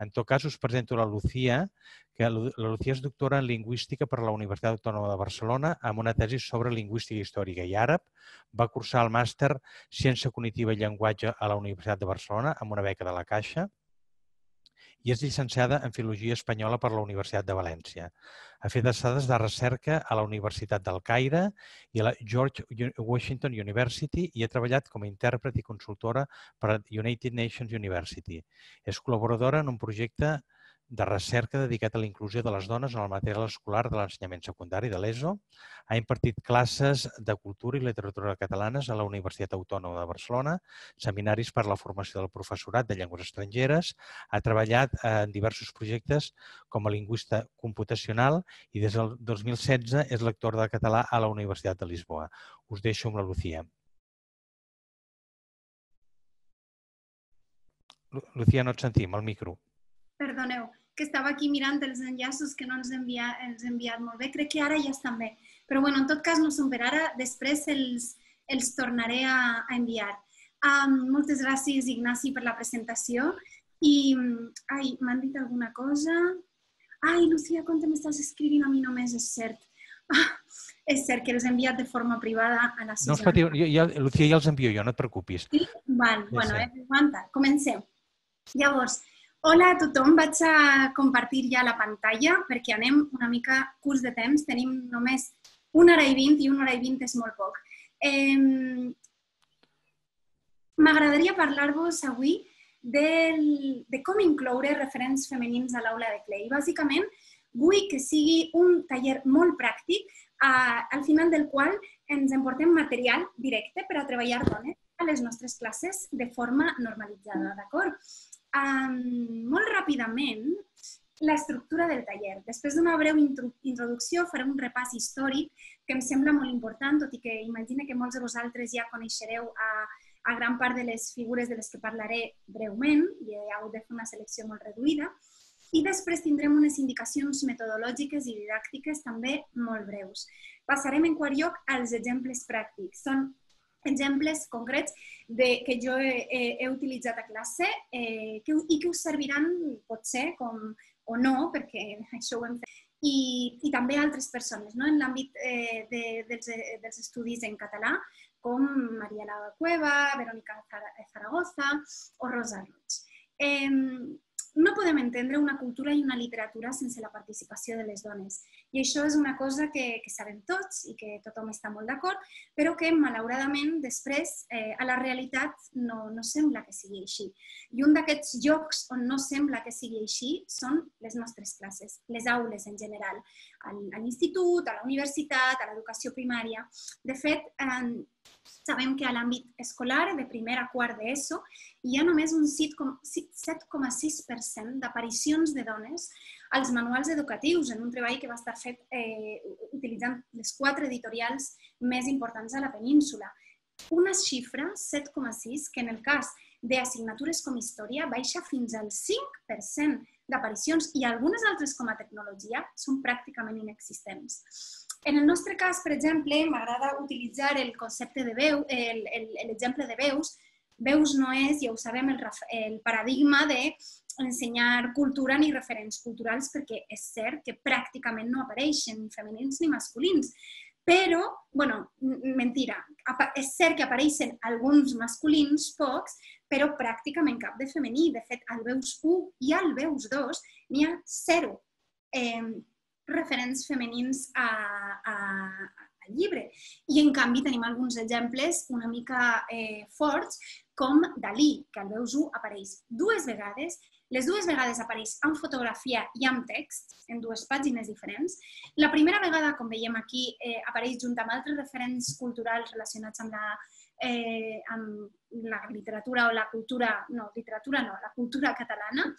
En tot cas, us presento la Lucía, que la Lucía és doctora en Lingüística per la Universitat Autònoma de Barcelona amb una tesi sobre Lingüística històrica i àrab. Va cursar el màster Ciència Cognitiva i Llenguatge a la Universitat de Barcelona amb una beca de la Caixa i és llicenciada en Filologia Espanyola per la Universitat de València. Ha fet estades de recerca a la Universitat del Caire i a la George Washington University i ha treballat com a intèrpret i consultora per a United Nations University. És col·laboradora en un projecte de recerca dedicat a la inclusió de les dones en el material escolar de l'ensenyament secundari de l'ESO. Ha impartit classes de cultura i literatura catalanes a la Universitat Autònoma de Barcelona, seminaris per a la formació del professorat de llengües estrangeres, ha treballat en diversos projectes com a lingüista computacional i des del 2016 és lector de català a la Universitat de Lisboa. Us deixo amb la Lucía. Lucía, no et sentim, al micro. Perdoneu, que estava aquí mirant els enllaços que no ens ha enviat molt bé. Crec que ara ja estan bé. Però bueno, en tot cas no són per ara, després els tornaré a enviar. Moltes gràcies, Ignasi, per la presentació. I, m'han dit alguna cosa? Lucía, quan m'estàs escrivint a mi només, és cert. És cert que els he enviat de forma privada a la Susana. No us patiu, Lucía, ja els envio jo, no et preocupis. Sí? Val, bueno, aguanta, comencem. Llavors, hola a tothom, vaig a compartir ja la pantalla perquè anem una mica curts de temps, tenim només 1 hora i 20 i 1 hora i 20 és molt poc. M'agradaria parlar-vos avui de com incloure referents femenins a l'aula de CLE. I bàsicament vull que sigui un taller molt pràctic al final del qual ens emportem material directe per a treballar dones a les nostres classes de forma normalitzada, d'acord? Molt ràpidament, l'estructura del taller. Després d'una breu introducció faré un repàs històric que em sembla molt important, tot i que imagino que molts de vosaltres ja coneixereu a gran part de les figures de les que parlaré breument, i he hagut de fer una selecció molt reduïda, i després tindrem unes indicacions metodològiques i didàctiques també molt breus. Passarem en quart lloc als exemples pràctics. Són exemples concrets que jo he utilitzat a classe i que us serviran potser o no, perquè això ho hem fet, i també altres persones en l'àmbit dels estudis en català, com Mariela Cueva, Verónica Zaragoza o Rosa Roig. No podem entendre una cultura i una literatura sense la participació de les dones. I això és una cosa que sabem tots i que tothom està molt d'acord, però que, malauradament, després, a la realitat no sembla que sigui així. I un d'aquests llocs on no sembla que sigui així són les nostres classes, les aules en general, a l'institut, a la universitat, a l'educació primària. De fet, sabem que a l'àmbit escolar, de primer a quart d'ESO, hi ha només un 7,6% d'aparicions de dones als manuals educatius, en un treball que va estar fet utilitzant les 4 editorials més importants a la península. Una xifra, 7,6, que en el cas d'assignatures com història baixa fins al 5% d'aparicions i algunes altres com a tecnologia són pràcticament inexistents. En el nostre cas, per exemple, m'agrada utilitzar el concepte de veu, l'exemple de veus. Veus no és, ja ho sabem, el paradigma d'ensenyar cultura ni referents culturals perquè és cert que pràcticament no apareixen femenins ni masculins. Però, bueno, mentira, és cert que apareixen alguns masculins, pocs, però pràcticament cap de femení. De fet, al Veus 1 i al Veus 2 n'hi ha 0 referents femenins al llibre. I, en canvi, tenim alguns exemples una mica forts, com Dalí, que al Veus 1 apareix 2 vegades. Les 2 vegades apareix amb fotografia i amb text, en 2 pàgines diferents. La primera vegada, com veiem aquí, apareix junt amb altres referents culturals relacionats amb la literatura o la cultura, no, literatura no, la cultura catalana.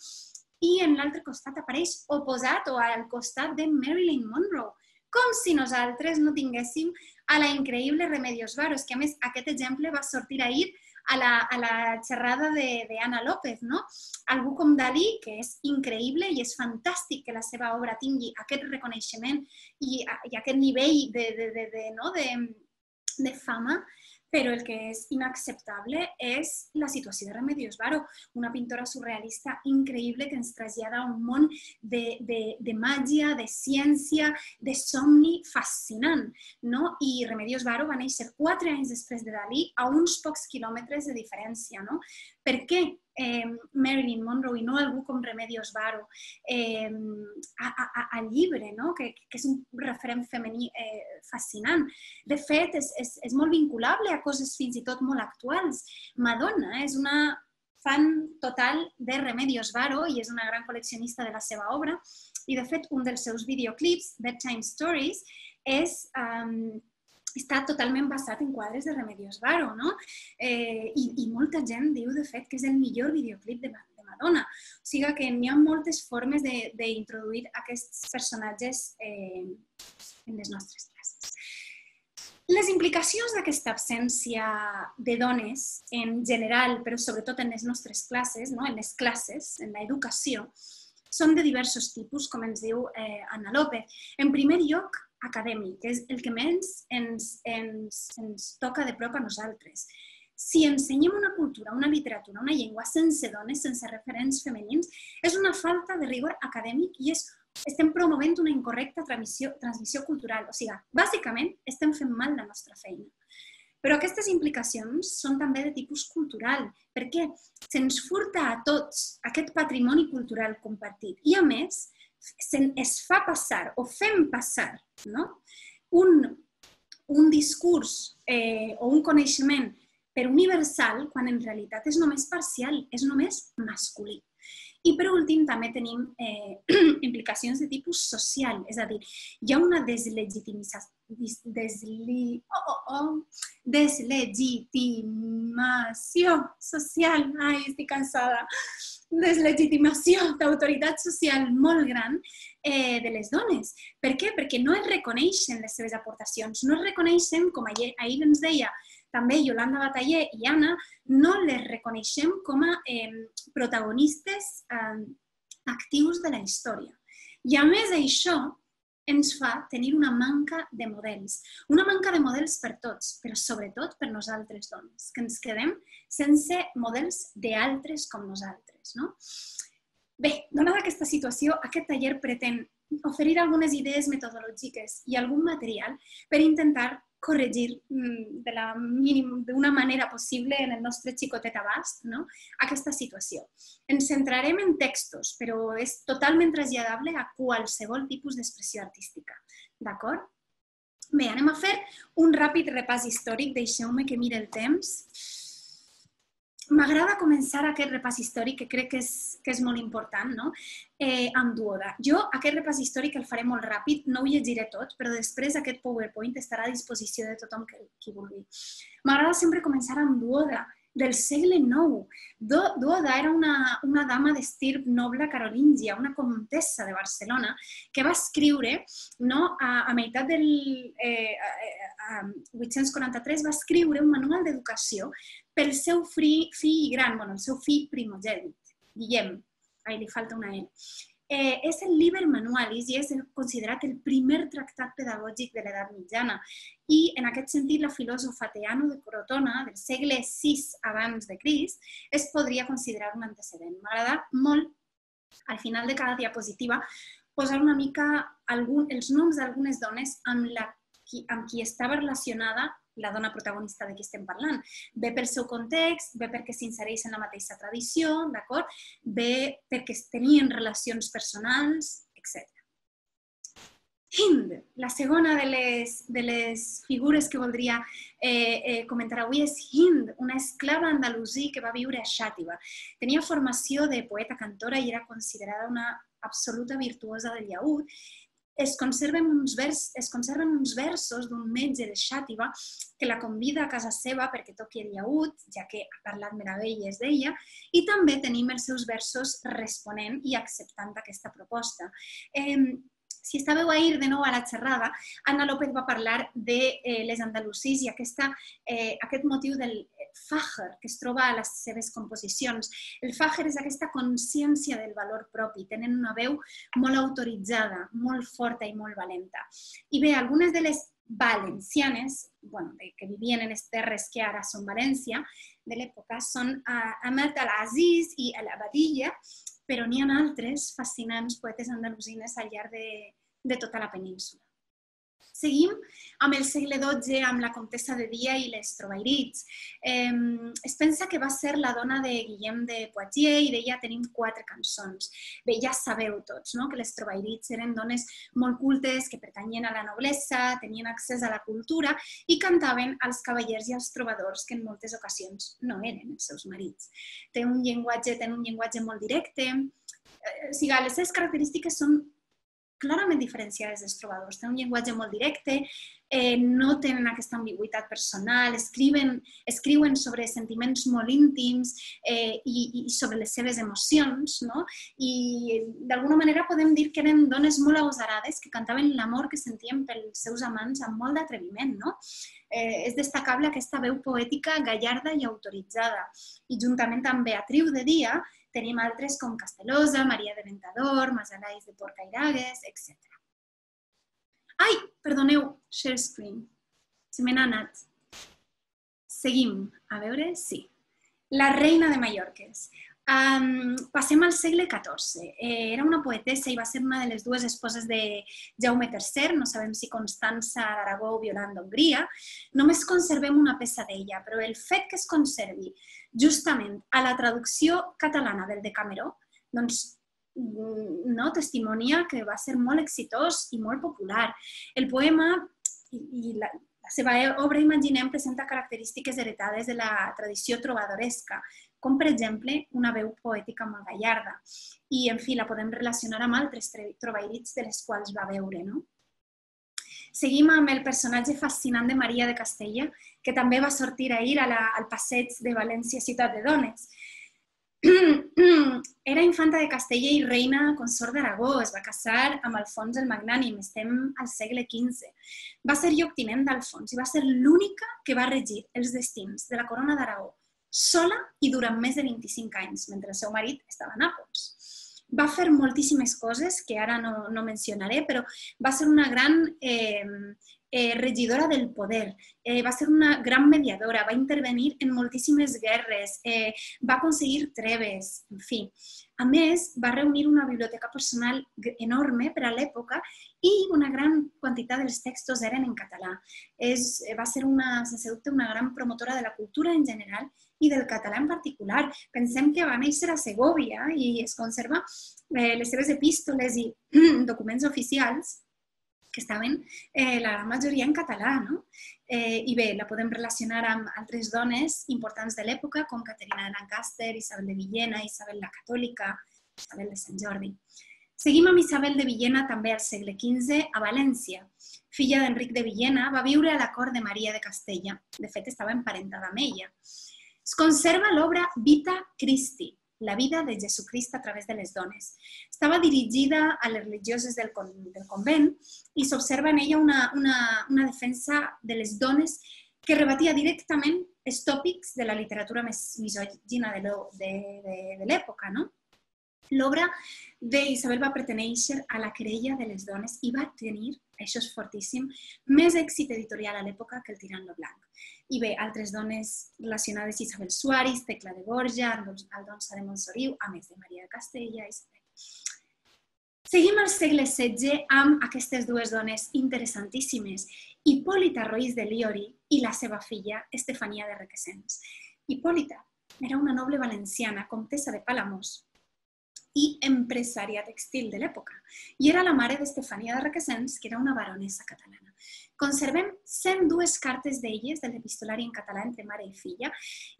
I en l'altre costat apareix oposat o al costat de Marilyn Monroe, com si nosaltres no tinguéssim a la increïble Remedios Varo, que a més aquest exemple va sortir ahir a la xerrada d'Anna López, no? Algú com Dalí, que és increïble i és fantàstic que la seva obra tingui aquest reconeixement i aquest nivell de fama, Però el que és inacceptable és la situació de Remedios Varo, una pintora surrealista increïble que ens trasllada a un món de màgia, de ciència, de somni fascinant. No? I Remedios Varo va néixer 4 anys després de Dalí a uns pocs quilòmetres de diferència. No? Per què Marilyn Monroe i no algú com Remedios Varo al llibre, no? que és un referent femení fascinant. De fet, és molt vinculable a coses fins i tot molt actuals. Madonna és una fan total de Remedios Varo i és una gran col·leccionista de la seva obra. I, de fet, un dels seus videoclips, Bedtime Stories, està totalment basat en quadres de Remedios Varo, no? I molta gent diu, de fet, que és el millor videoclip de Madonna. O sigui que n'hi ha moltes formes d'introduir aquests personatges en les nostres classes. Les implicacions d'aquesta absència de dones en general, però sobretot en les nostres classes, en les classes, en l'educació, són de diversos tipus, com ens diu Anna López. En primer lloc, acadèmic, que és el que menys ens toca de prop a nosaltres. Si ensenyem una cultura, una literatura, una llengua sense dones, sense referents femenins, és una falta de rigor acadèmic i estem promovent una incorrecta transmissió cultural. O sigui, bàsicament, estem fent mal la nostra feina. Però aquestes implicacions són també de tipus cultural, perquè se'ns furta a tots aquest patrimoni cultural compartit. I, a més, es fa passar o fem passar un discurs o un coneixement per universal quan en realitat és només parcial, és només masculí. I per últim també tenim implicacions de tipus social, és a dir, hi ha una deslegitimació social, estic cansada, deslegitimació d'autoritat social molt gran de les dones. Per què? Perquè no es reconeixen les seves aportacions, no es reconeixen, com ahir ens deia també Yolanda Bataller i Anna, no les reconeixem com a protagonistes actius de la història. I a més això ens fa tenir una manca de models. Una manca de models per tots, però sobretot per nosaltres dones, que ens quedem sense models d'altres com nosaltres. Bé, donada aquesta situació, aquest taller pretén oferir algunes idees metodològiques i algun material per intentar corregir d'una manera possible en el nostre xicotet abast aquesta situació. Ens centrarem en textos, però és totalment traslladable a qualsevol tipus d'expressió artística. D'acord? Bé, anem a fer un ràpid repàs històric. Deixeu-me que miri el temps. M'agrada començar aquest repàs històric, que crec que és molt important, amb Duoda. Jo aquest repàs històric el faré molt ràpid, no ho llegiré tot, però després aquest PowerPoint estarà a disposició de tothom qui vulgui. M'agrada sempre començar amb Duoda, del segle IX. Duoda era una dama d'estirp noble carolíngia, una comtessa de Barcelona, que va escriure, a meitat del 843, va escriure un manual d'educació pel seu fill gran, el seu fill primogènit, Guillem, li falta una L. És el Liber Manualis i és considerat el primer tractat pedagògic de l'edat mitjana. I en aquest sentit, la filòsofa Teano de Crotona, del segle VI abans de Crist, es podria considerar un antecedent. M'agrada molt, al final de cada diapositiva, posar una mica els noms d'algunes dones amb qui estava relacionada la dona protagonista de qui estem parlant. Bé pel seu context, bé perquè s'insereix en la mateixa tradició, d'acord? Bé perquè tenien relacions personals, etc. Hind, la segona de les figures que voldria comentar avui és Hind, una esclava andalusí que va viure a Xàtiva. Tenia formació de poeta-cantora i era considerada una absoluta virtuosa del llaüt. Es conserven uns versos d'un metge de Xàtiva que la convida a casa seva perquè toqui el llaüt, ja que ha parlat meravelles d'ella, i també tenim els seus versos responent i acceptant aquesta proposta. Si estàveu ahir de nou a la xerrada, Anna López va parlar de les andalusís i aquest motiu del fàger que es troba a les seves composicions. El fàger és aquesta consciència del valor propi, tenen una veu molt autoritzada, molt forta i molt valenta. I bé, algunes de les valencianes, que vivien en les terres que ara són València, de l'època, són Ahmed Al-Aziz i Al-Abadilla, però n'hi ha altres fascinants poetes andalusines al llarg de tota la península. Seguim amb el segle XII, amb la comtessa de Dia i les Trovairits. Es pensa que va ser la dona de Guillem de Poitiers i d'ella tenim 4 cançons. Bé, ja sabeu tots que les Trovairits eren dones molt cultes que pertanyien a la noblesa, tenien accés a la cultura i cantaven als cavallers i als trobadors que en moltes ocasions no eren els seus marits. Tenen un llenguatge molt directe. O sigui, les seves característiques són clarament diferenciades dels trobadors. Tenen un llenguatge molt directe, no tenen aquesta ambigüitat personal, escriuen sobre sentiments molt íntims i sobre les seves emocions, i d'alguna manera podem dir que eren dones molt agosarades que cantaven l'amor que sentien pels seus amants amb molt d'atreviment. És destacable aquesta veu poètica gallarda i autoritzada. I juntament amb Beatriu de Dia tenim altres com Castelosa, Maria de Ventador, Masalais de Porcairagues, etc. Ai, perdoneu, share screen. Se me n'ha anat. Seguim. A veure, sí. La reina de Mallorques. Passem al segle XIV. Era una poetessa i va ser una de les 2 esposes de Jaume III, no sabem si Constança d'Aragó o Violant d'Hongria. Només conservem una peça d'ella, però el fet que es conservi justament a la traducció catalana del Decameró, doncs testimonia que va ser molt exitós i molt popular. El poema i la seva obra, imaginem, presenta característiques heretades de la tradició trobadoresca, com per exemple una veu poètica molt gallarda. I, en fi, la podem relacionar amb altres trovairits de les quals va veure. Seguim amb el personatge fascinant de Maria de Castella, que també va sortir ahir al passeig de València Ciutat de Dones. Era infanta de Castella i reina consort d'Aragó, es va casar amb Alfons el Magnànim, estem al segle XV. Va ser lloctinent d'Alfons i va ser l'única que va regir els destins de la corona d'Aragó, sola i durant més de 25 anys, mentre el seu marit estava a Nàpols. Va fer moltíssimes coses que ara no mencionaré, però va ser una gran regidora del poder, va ser una gran mediadora, va intervenir en moltíssimes guerres, va aconseguir treves, en fi. A més, va reunir una biblioteca personal enorme per a l'època i una gran quantitat dels textos eren en català. Va ser, sense dubte, una gran promotora de la cultura en general i del català en particular. Pensem que va néixer a Segòvia i es conserva les seves epístoles i documents oficials que estaven la gran majoria en català. I bé, la podem relacionar amb altres dones importants de l'època, com Caterina de Lancaster, Isabel de Villena, Isabel la Catòlica, Isabel de Sant Jordi. Seguim amb Isabel de Villena, també al segle XV, a València. Filla d'Enric de Villena, va viure a la cort de Maria de Castella. De fet, estava emparentada amb ella. Es conserva l'obra Vita Christi, la vida de Jesucrist a través de les dones. Estava dirigida a les religioses del convent i s'observa en ella una defensa de les dones que rebatia directament els tòpics de la literatura més misògina de l'època. L'obra d'Isabel va pertenèixer a la querella de les dones i va tenir, això és fortíssim, més èxit editorial a l'època que el Tirant lo Blanc. I bé, altres dones relacionades, Isabel Suárez, Tecla de Borja, Aldonsa de Montsoriu, a més de Maria de Castella, Isabel. Seguim al segle XVI amb aquestes 2 dones interessantíssimes, Hipòlita Roís de Liori i la seva filla, Estefania de Requesens. Hipòlita era una noble valenciana, comtessa de Palamós, i empresària textil de l'època. I era la mare d'Estefania de Requesens, que era una baronessa catalana. Conservem 102 cartes d'elles de l'epistolari en català entre mare i filla,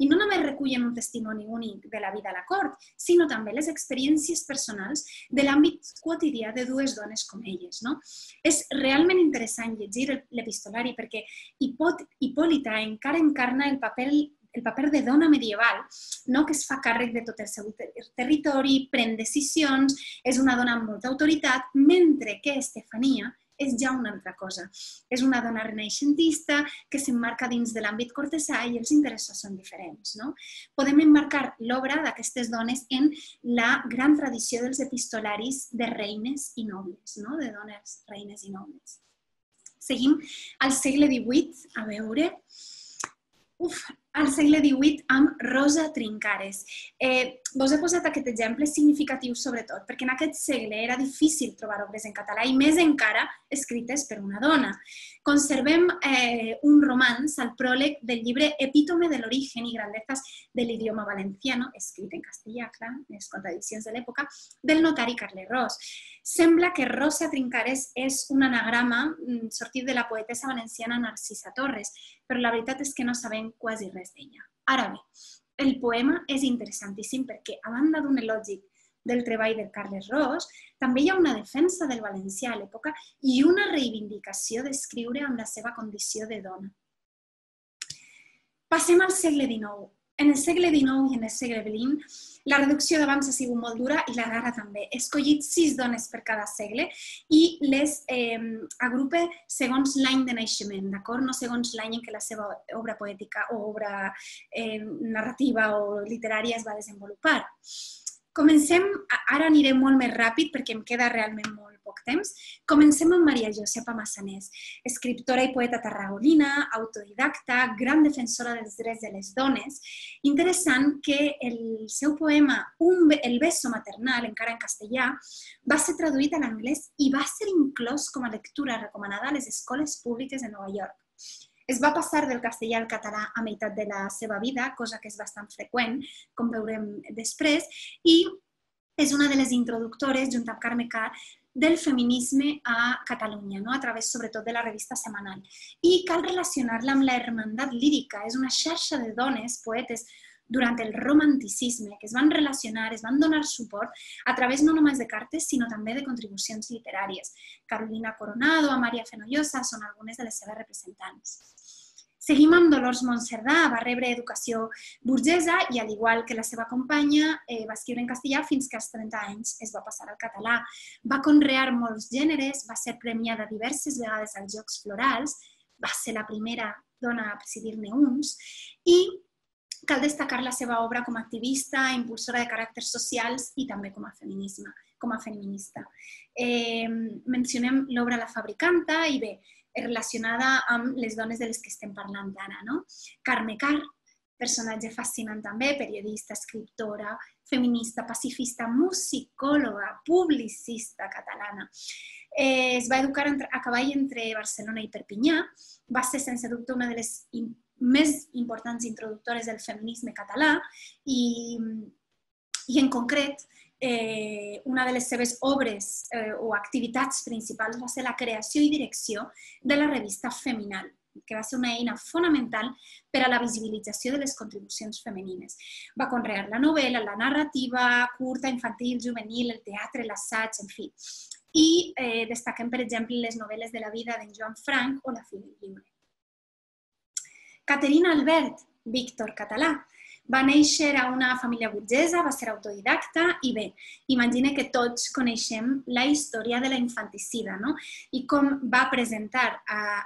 i no només recullen un testimoni únic de la vida a la cort, sinó també les experiències personals de l'àmbit quotidià de 2 dones com elles. És realment interessant llegir l'epistolari perquè Hipòlita encara encarna el paper de dona medieval, que es fa càrrec de tot el seu territori, pren decisions, és una dona amb molta autoritat, mentre que Estefania és ja una altra cosa. És una dona renaixentista que s'emmarca dins de l'àmbit cortesà i els interessos són diferents. Podem emmarcar l'obra d'aquestes dones en la gran tradició dels epistolaris de reines i nobles, de dones reines i nobles. Seguim al segle XVIII, a veure... al segle XVIII amb Rosa Trincares. Vos he posat aquest exemple significatiu sobretot perquè en aquest segle era difícil trobar obres en català i més encara escrites per una dona. Conservem un romanç al pròleg del llibre Epítome de l'origen i grandezas de l'idioma valenciano, escrit en castellà, clar, les contradiccions de l'època, del notari Carles Ros. Sembla que Rosa Trincares és un anagrama sortit de la poetessa valenciana Narcisa Torres, però la veritat és que no sabem quasi res d'ella. Ara bé, el poema és interessantíssim perquè, a banda d'un elogi del treball del Carles Ros, també hi ha una defensa del valencià a l'època i una reivindicació d'escriure amb la seva condició de dona. Passem al segle XIX. En el segle XIX i en el segle XX, la reducció d'avanç ha sigut molt dura i la d'ara també. He escollit 6 dones per cada segle i les agrupe segons l'any de naixement, d'acord? No segons l'any en què la seva obra poètica o obra narrativa o literària es va desenvolupar. Comencem, ara aniré molt més ràpid perquè em queda realment molt poc temps. Comencem amb Maria Josepa Massanés, escriptora i poeta tarragonina, autodidacta, gran defensora dels drets de les dones. Interessant que el seu poema El beso maternal, encara en castellà, va ser traduït a l'anglès i va ser inclòs com a lectura recomanada a les escoles públiques de Nova York. Es va passar del castellà al català a meitat de la seva vida, cosa que és bastant freqüent, com veurem després, i és una de les introductores, junt amb Carme Karr, del feminisme a Catalunya, a través sobretot de la revista Setmanal. I cal relacionar-la amb la Hermandat Lírica, és una xarxa de dones, poetes, durant el romanticisme, que es van relacionar, es van donar suport a través no només de cartes, sinó també de contribucions literàries. Carolina Coronado, Amalia Fenollosa són algunes de les seves representants. Seguim amb Dolors Monserdà, va rebre educació burgesa i, al igual que la seva companya, va escriure en castellà fins que als 30 anys es va passar al català. Va conrear molts gèneres, va ser premiada diverses vegades als Jocs Florals, va ser la primera dona a presidir-ne uns i cal destacar la seva obra com a activista, impulsora de caràcters socials i també com a feminista. Mencionem l'obra La Fabricanta i bé, relacionada amb les dones de les que estem parlant ara. Carme Karr, personatge fascinant també, periodista, escriptora, feminista, pacifista, musicòloga, publicista catalana. Es va educar a cavall entre Barcelona i Perpinyà, va ser sense dubte una de les més importants introductores del feminisme català i en concret una de les seves obres o activitats principals va ser la creació i direcció de la revista Feminal, que va ser una eina fonamental per a la visibilització de les contribucions femenines. Va conrear la novel·la, la narrativa, curta, infantil, juvenil, el teatre, l'assaig, en fi. I destaquem, per exemple, les novel·les de la vida d'en Joan Frank o La fi del lliure. Caterina Albert, Víctor català. Va néixer a una família burgesa, va ser autodidacta i bé, imagina que tots coneixem la història de la infanticida, no? I com va presentar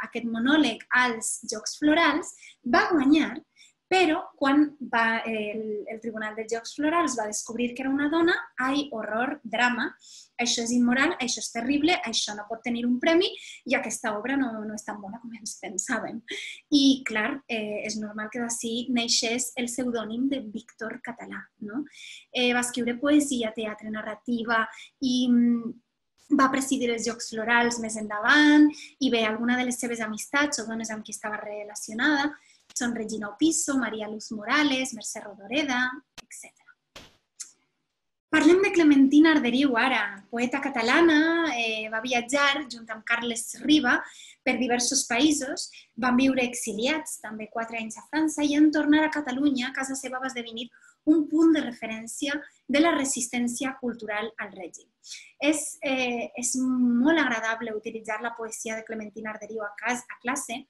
aquest monòleg als Jocs Florals, va guanyar, però quan el Tribunal dels Jocs Florals va descobrir que era una dona, ai, horror, drama, això és immoral, això és terrible, això no pot tenir un premi i aquesta obra no és tan bona com ens pensàvem. I, clar, és normal que d'ací neixés el pseudònim de Víctor Català. Va escriure poesia, teatre, narrativa i va presidir els Jocs Florals més endavant i bé, alguna de les seves amistats o dones amb qui estava relacionada són Regina Opisso, Maria Luz Morales, Mercè Rodoreda, etc. Parlem de Clementina Arderiu ara, poeta catalana, va viatjar junt amb Carles Riba per diversos països, van viure exiliats també 4 anys a França i en tornar a Catalunya, casa seva va esdevenir un punt de referència de la resistència cultural al règim. És molt agradable utilitzar la poesia de Clementina Arderiu a classe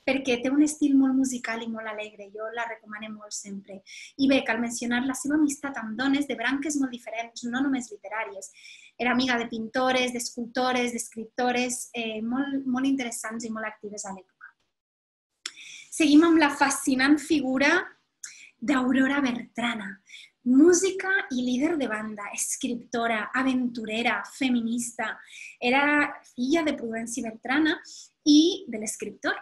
perquè té un estil molt musical i molt alegre, jo la recomano molt sempre. I bé, cal mencionar la seva amistat amb dones de branques molt diferents, no només literàries. Era amiga de pintores, d'escultores, d'escriptores, molt interessants i molt actives a l'època. Seguim amb la fascinant figura d'Aurora Bertrana. música i líder de banda, escriptora, aventurera, feminista. Era filla de Prudenci Bertrana i de l'escriptor,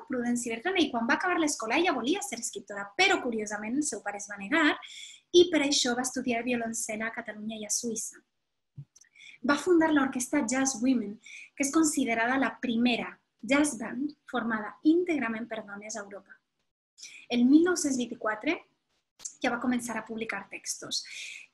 Prudenci Bertrana, i quan va acabar l'escola ella volia ser escriptora, però curiosament el seu pare es va negar i per això va estudiar violoncel a Catalunya i a Suïssa. Va fundar l'orquestra Jazz Women, que és considerada la primera jazz band formada íntegrament per dones a Europa. El 1924 ja va començar a publicar textos.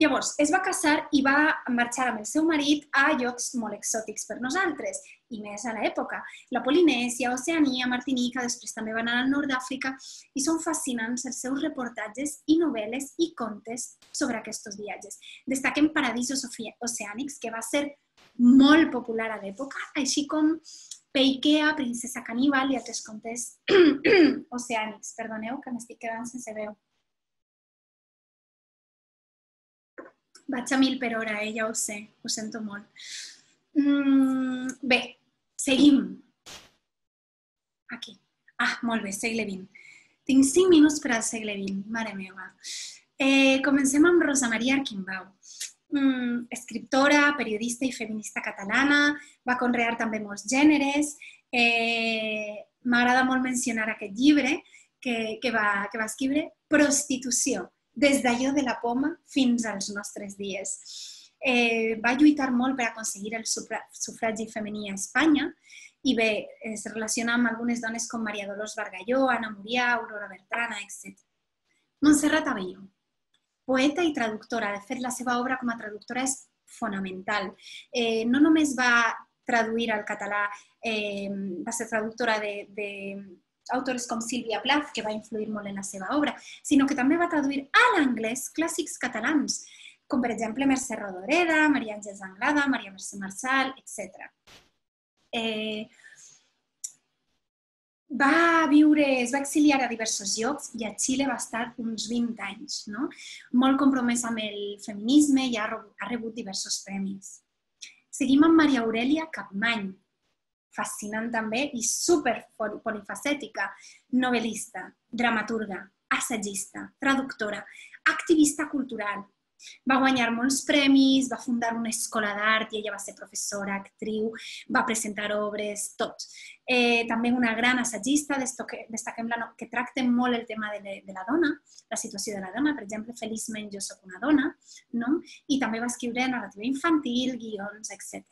Llavors, es va casar i va marxar amb el seu marit a llocs molt exòtics per nosaltres, i més a l'època. La Polinèsia, Oceania, Martinica, després també van anar al nord d'Àfrica i són fascinants els seus reportatges i novel·les i contes sobre aquests viatges. Destaquem Paradisos oceànics, que va ser molt popular a l'època, així com Peikea, Princesa Caníbal i altres contes oceànics. Perdoneu que m'estic quedant sense veu. Vaig a 1000 per hora, ja ho sé, ho sento molt. Bé, seguim. Aquí. Molt bé, segle XX. Tinc 5 minuts per al segle XX, mare meva. Comencem amb Rosa Maria Arquimbau. Escriptora, periodista i feminista catalana, va conrear també molts gèneres. M'agrada molt mencionar aquest llibre que va escriure, Prostitució, des d'allò de la poma fins als nostres dies. Va lluitar molt per aconseguir el sufragi femení a Espanya i bé, es relaciona amb algunes dones com Maria Dolors Bargalló, Anna Murià, Aurora Bertrana, etc. Montserrat Abelló, poeta i traductora. De fet, la seva obra com a traductora és fonamental. No només va traduir al català, va ser traductora d'autores com Sílvia Plath, que va influir molt en la seva obra, sinó que també va traduir a l'anglès clàssics catalans, com per exemple Mercè Rodoreda, Maria Àngels Anglada, Maria Mercè Marçal, etc. Es va exiliar a diversos llocs i a Xile va estar uns 20 anys, molt compromès amb el feminisme i ha rebut diversos premis. Seguim amb Maria Aurèlia Capmany, fascinant també i super polifacètica, novel·lista, dramaturga, assagista, traductora, activista cultural. Va guanyar molts premis, va fundar una escola d'art i ella va ser professora, actriu, va presentar obres, tot. També una gran assagista, destaquem que tracta molt el tema de la dona, la situació de la dona, per exemple, Feliçment jo soc una dona, i també va escriure narrativa infantil, guions, etc.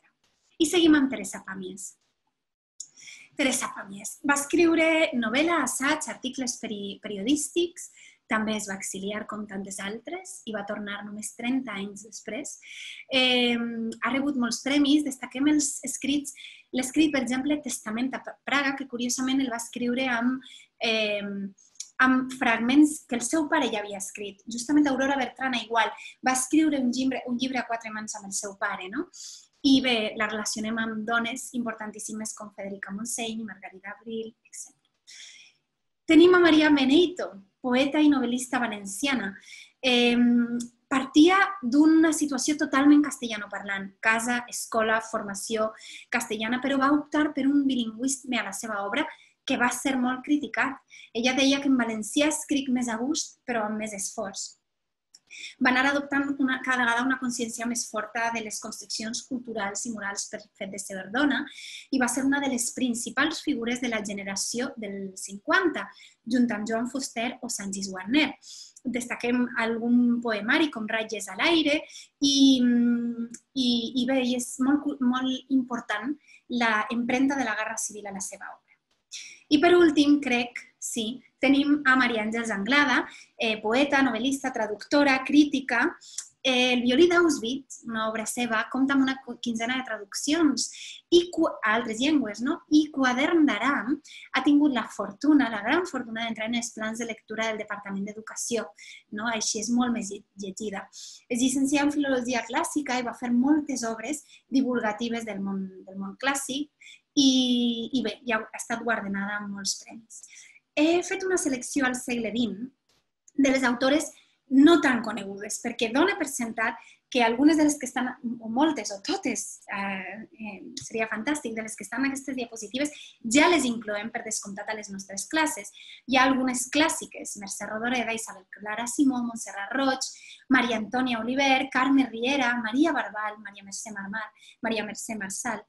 I seguim amb Teresa Pàmies. Teresa Pàmies va escriure novel·la, assaig, articles periodístics, també es va exiliar com tantes altres i va tornar només 30 anys després. Ha rebut molts premis, destaquem els escrits, l'escrit, per exemple, Testament a Praga, que curiosament el va escriure amb fragments que el seu pare ja havia escrit. Justament Aurora Bertrana igual, va escriure un llibre a 4 mans amb el seu pare, I bé, la relacionem amb dones importantíssimes com Federica Montseny, Margarida Abril, etc. Tenim a Maria Beneyto, poeta i novel·lista valenciana. Partia d'una situació totalment castellanoparlant, casa, escola, formació castellana, però va optar per un bilingüisme a la seva obra que va ser molt criticat. Ella deia que en valencià escric més a gust, però amb més esforç. Va anar adoptant cada vegada una consciència més forta de les construccions culturals i morals per fet de ser dona i va ser una de les principals figures de la generació del 50, junt amb Joan Fuster o Sanchis Guarner. Destaquem algun poemari com Ratlles a l'aire i bé, és molt important l'empremta de la Guerra Civil a la seva obra. I per últim, crec, sí, tenim a Maria Àngels Anglada, poeta, novel·lista, traductora, crítica. El violí d'Auschwitz, una obra seva, compta amb una 15ena de traduccions a altres llengües, i Quadern d'Aram ha tingut la gran fortuna d'entrar en els plans de lectura del Departament d'Educació, així és molt més llegida. És llicenciada en Filologia Clàssica i va fer moltes obres divulgatives del món clàssic i bé, ja ha estat guardonada amb molts premis. He fet una selecció al segle XX de les autores no tan conegudes, perquè dona per sentat que algunes de les que estan, o moltes, o totes, seria fantàstic, de les que estan en aquestes diapositives, ja les incloem per descomptat a les nostres classes. Hi ha algunes clàssiques, Mercè Rodoreda, Isabel Clara Simó, Montserrat Roig, Maria Antònia Oliver, Carme Riera, Maria Barbal, Maria Mercè Marçal.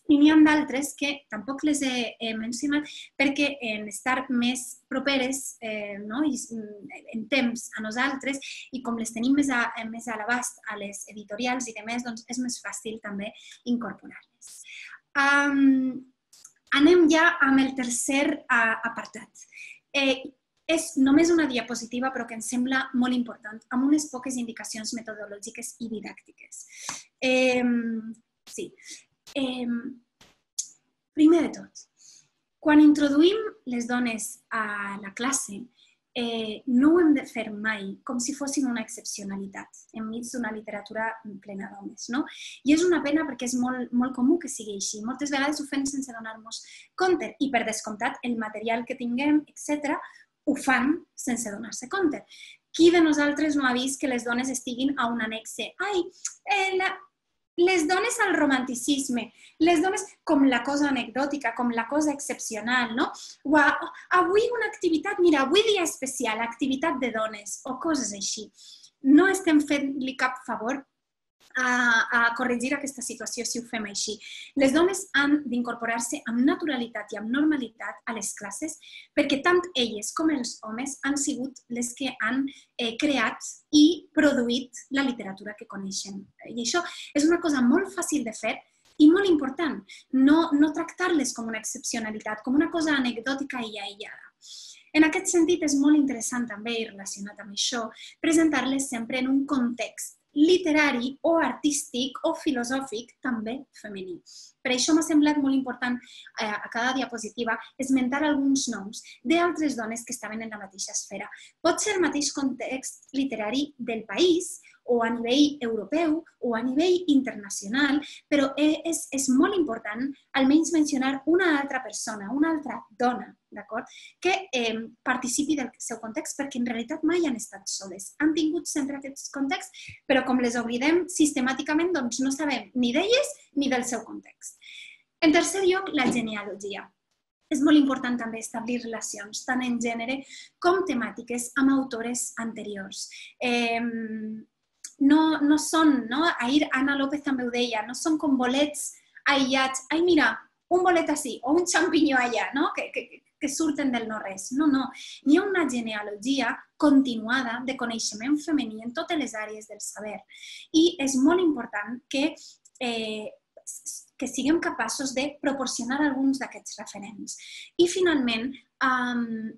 I n'hi ha d'altres que tampoc les he mencionat perquè en estar més properes en temps a nosaltres i com les tenim més a l'abast a les editorials i demés, doncs és més fàcil també incorporar-les. Anem ja amb el tercer apartat. És només una diapositiva, però que em sembla molt important, amb unes poques indicacions metodològiques i didàctiques. Sí. Primer de tot, quan introduïm les dones a la classe, no ho hem de fer mai com si fossin una excepcionalitat enmig d'una literatura plena d'homes. I és una pena perquè és molt comú que sigui així. Moltes vegades ho fem sense donar-nos compte i, per descomptat, el material que tinguem, etc., ho fan sense donar-se compte. Qui de nosaltres no ha vist que les dones estiguin a un annexe? Les dones al romanticisme, les dones com la cosa anecdòtica, com la cosa excepcional, no? O avui una activitat, mira, avui dia especial, activitat de dones, o coses així. No estem fent-li cap favor a corregir aquesta situació si ho fem així. Les dones han d'incorporar-se amb naturalitat i amb normalitat a les classes perquè tant elles com els homes han sigut les que han creat i produït la literatura que coneixen. I això és una cosa molt fàcil de fer i molt important. No tractar-les com una excepcionalitat, com una cosa anecdòtica i aïllada. En aquest sentit, és molt interessant també, i relacionat amb això, presentar-les sempre en un context literari o artístic o filosòfic també femení. Per això m'ha semblat molt important a cada diapositiva esmentar alguns noms d'altres dones que estaven en la mateixa esfera. Pot ser el mateix context literari del país o a nivell europeu o a nivell internacional, però és molt important almenys mencionar una altra persona, una altra dona, d'acord, que participi del seu context perquè en realitat mai han estat soles. Han tingut sempre aquest context, però com les oblidem sistemàticament, doncs no sabem ni d'elles ni del seu context. En tercer lloc, la genealogia. És molt important també establir relacions, tant en gènere com temàtiques, amb autores anteriors. No són, ahir Ana López també ho deia, no són com bolets aïllats. Ai, mira, un bolet així o un xampinyó allà, que surten del no-res. No. Hi ha una genealogia continuada de coneixement femení en totes les àrees del saber. I és molt important que siguem capaços de proporcionar alguns d'aquests referents. I, finalment,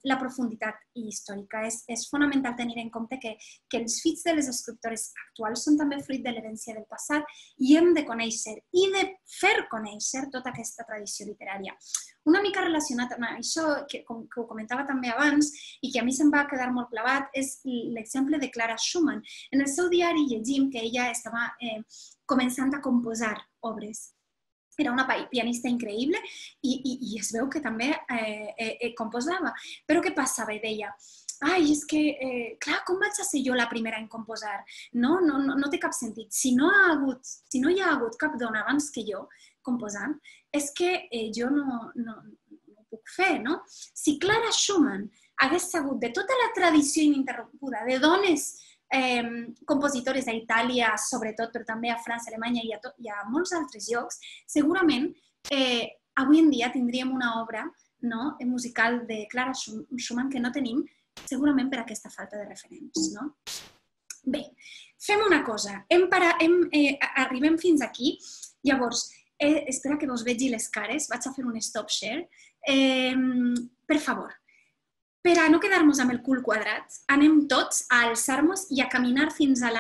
la profunditat històrica. És fonamental tenir en compte que els fills de les escriptores actuals són també fruit de l'herència del passat i hem de conèixer i de fer conèixer tota aquesta tradició literària. Una mica relacionat amb això, que ho comentava també abans i que a mi se'm va quedar molt clavat, és l'exemple de Clara Schumann. En el seu diari llegim que ella estava començant a composar obres. Era una pianista increïble i es veu que també composava. Però què passava? Deia, ai, és que, clar, com vaig a ser jo la primera en composar? No té cap sentit. Si no hi ha hagut cap dona abans que jo composant, és que jo no ho puc fer, no? Si Clara Schumann hagués sabut de tota la tradició ininterrompuda de dones compositores a Itàlia, sobretot, però també a França, Alemanya i a molts altres llocs, segurament avui en dia tindríem una obra musical de Clara Schumann que no tenim, segurament per aquesta falta de referents. Bé, fem una cosa. Arribem fins aquí. Llavors, espera que vos vegi les cares. Vaig a fer un stop share. Per favor, per a no quedar-nos amb el cul quadrat, anem tots a alçar-nos i a caminar fins a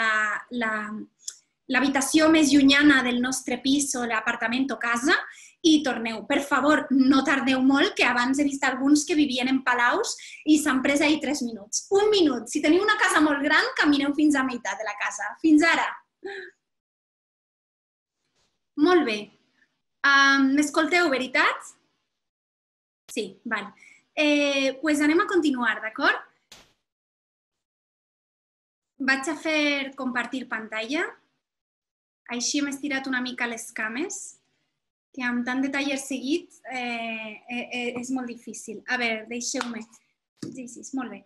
l'habitació més llunyana del nostre pis o l'apartament o casa i torneu. Per favor, no tardeu molt, que abans he vist alguns que vivien en palaus i s'han pres ahir 3 minuts. 1 minut. Si teniu una casa molt gran, camineu fins a meitat de la casa. Fins ara. Molt bé. M'escolteu, veritat? Sí, val. Doncs anem a continuar, d'acord? Vaig a fer compartir pantalla. Així hem estirat una mica les cames, que amb tant de taller seguit és molt difícil. A veure, deixeu-me. Sí, molt bé.